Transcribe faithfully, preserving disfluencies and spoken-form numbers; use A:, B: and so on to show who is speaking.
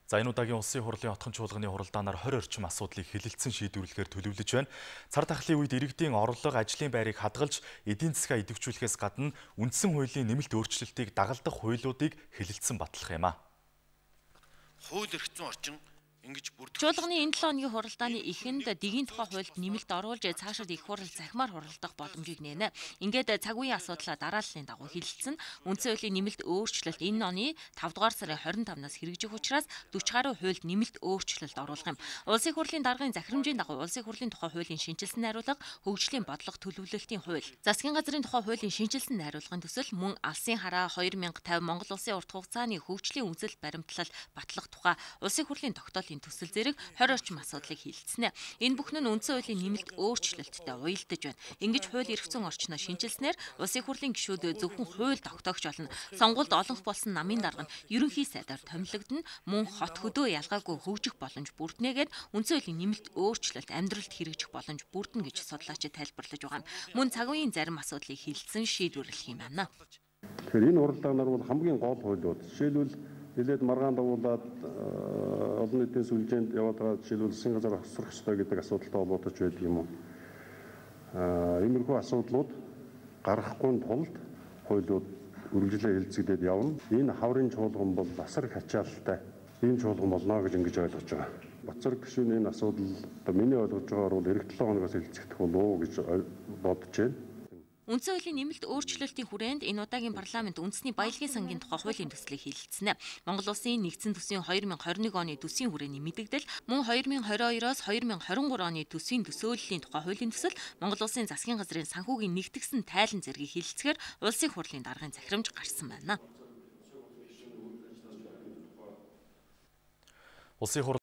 A: За энэ удаагийн улсын хурлын отхон чуулганы хуралдаанаар хорь орчим асуудлыг хэлэлцэн шийдвэрлэхээр төлөвлөж байна. Цар тахлын үед иргэдийн орлого, ажлын байрыг хадгалж, эдийн засгаа идэвхжүүлэхээс гадна үндсэн хуулийн нэмэлт өөрчлөлтийг дагалдах хуулиудыг хэлэлцэн батлах юм а.
B: Хууль эрх зүйн орчин ингэж бүрдэх.
C: Чуулганы энэ долоо хоногийн хуралдааны эхэнд дигийн тухай хуульд нэмэлт оруулж цаашид их хурал захимаар хуралдах боломжийг нээнэ. Ингээд цаг үеийн асуудлаа дарааллын дагуу хэлэлцэн үндсэн хуулийн нэмэлт өөрчлөлт энэ оны тавдугаар сарын хорин тавнаас хэрэгжих учраас дөрвөн гаруй хуульд нэмэлт өөрчлөлт оруулах юм. Улсын хурлын даргын захирамжийн дагуу улсын хурлын тухай хуулийн шинжилсэн найруулга, хөгжлийн бодлого төлөвлөлтийн хууль, засгийн газрын тухай хуулийн шинжилсэн найруулгын төсөл, мөн алсын хараа хоёр мянга тавь Монгол улсын урт хугацааны хөгжлийн үндэслэл баримтлал батлах тухай улсын хурлын тогтоолын төсөл зэрэг хорь орчим асуудлыг хэлэлцэнэ. Энэ бүхэн нь үндсэн хуулийн нэмэлт өөрчлөлттэй уялдаж байна. Ингэж хууль эрх зүйн орчноо шинжилснээр улсын хурлын гишүүд зөвхөн хууль тогтоогч болно. Сонгуульд олонх болсон намын дарга нь ерөнхий сайдаар томилогдно, мөн хот хөдөө ялгаагүй хөгжих боломж бүрднэгээд үндсэн хуулийн нэмэлт өөрчлөлт амьдралд хэрэгжих боломж бүрднэ гэж судлаачид тайлбарлаж байгаа юм. Мөн цаг үеийн зарим асуудлыг хэлэлцэн шийдвэрлэх юм байна.
D: Тэгэхээр энэ хуралдаанаар бол хамгийн гол хуулиуд жишээлбэл нэлээд маргаан дагуулад олон нийтийн сүлжээнд яваад байгаа жишээлбэл засгийн газар хосрох ёстой гэдэг асуудалтай холбоотой ч байдаг юм уу. Аа иймэрхүү асуудлууд гаргахгүй тулд хуулиуд үргэлжлээ хэлцэгдээд явна. Энэ хаврын чуулган бол асар их ачаалттай ийм чуулган болно гэж ингэж ойлгож байгаа. Бацар гишүүний энэ асуудал одоо миний ойлгож байгаагаар бол эх долоо хоногоос хэлцэгдэх болов уу гэж бодож байна.
C: Үндсэн хуулийн нэмэлт өөрчлөлтийн хүрээнд энэ удаагийн парламент үндэсний баялагын сангийн тухай хуулийн төслийг хэлэлцэнэ. Монгол улсын нэгдсэн төсвийн хоёр мянга хорин нэг оны төсвийн хүрээний мэдэгдэл, мөн хоёр мянга хорин хоёроос хоёр мянга хорин гурван оны төсвийн төсөөллийн тухай хуулийн төсөл, Монгол улсын засгийн газрын санхүүгийн нэгтгэсэн тайлан зэргийг хэлэлцэхээр улсын хурлын даргын захирамж гарсан байна.
A: Улсын